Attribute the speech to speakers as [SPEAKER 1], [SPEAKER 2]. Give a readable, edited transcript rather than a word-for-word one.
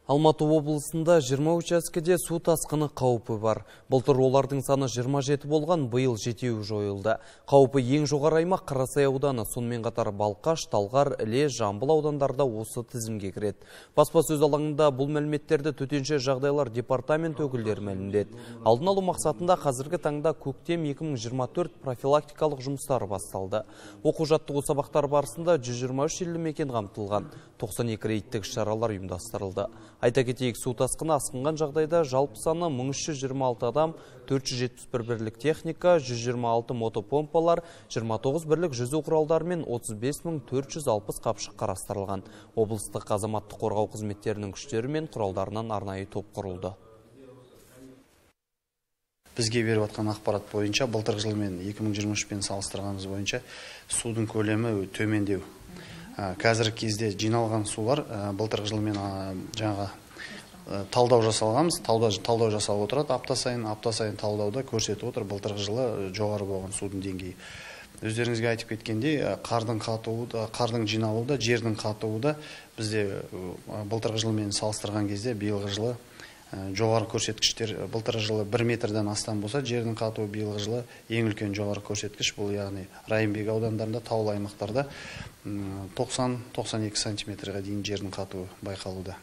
[SPEAKER 1] Алматы облысында 20 учаскеде су тасқыны қаупі бар. Былтыр олардың саны 27 болған, биыл 7 жойылды. Қаупі ең жоғары аймақ Қарасай ауданы, сонымен қатар Балқаш, Талғар, Іле, Жамбыл аудандарда осы тізімге кіреді. Баспасөз алаңында бұл мәліметтерді төтенше жағдайлар департамент өкілдері мәлімдеді. Алдын алу мақсатында қазіргі таңда көктем 2024 профилактикалық жұмыстары басталды. Оқу-жаттығу сабақтар барысында 123 елді мекен қамтылған, 92 рейдтік шаралар ұйымдастырылды. Айта кетейік, су тасқыны асқынған жағдайда жалпы саны 1326 адам, 471 бірлік техника, 126 мотопомпалар, 29 бірлік жүзу құралдары мен 35460 қапшық қарастырылған. Облыстық азаматтық қорғау қызметтерінің күштері мен құралдарынан арнайы топ құрылды.
[SPEAKER 2] Бізге беріп атқан ақпарат бойынша, былтырғы жылмен 2023-пен салыстырғанымыз бойынша судың көлемі төмендеу. Қазіргі кезде жиналған сулар былтырғы жылмен жаңа талдау жасалғанбыз, талдау жасалып отырады. Апта сайын талдауда көрсетіп отыр, былтырғы жылы жоғары болған судың деңгейі. Өздеріңізге айтып кеткендей, қардың жиналуы да, жердің қатуы да бізде былтырғы жылмен салыстырған кезде биылғы жылы жоғары көрсеткіштер. Былтырғы жылы 1 метрден астам болса, жердің қатуы биылғы жылы ең үлкен жоғары көрсеткіш. Бұл яғни Райымбек аудандарында, таулы аймақтарда 90-92 сантиметрге дейін жердің қатуы байқалуда.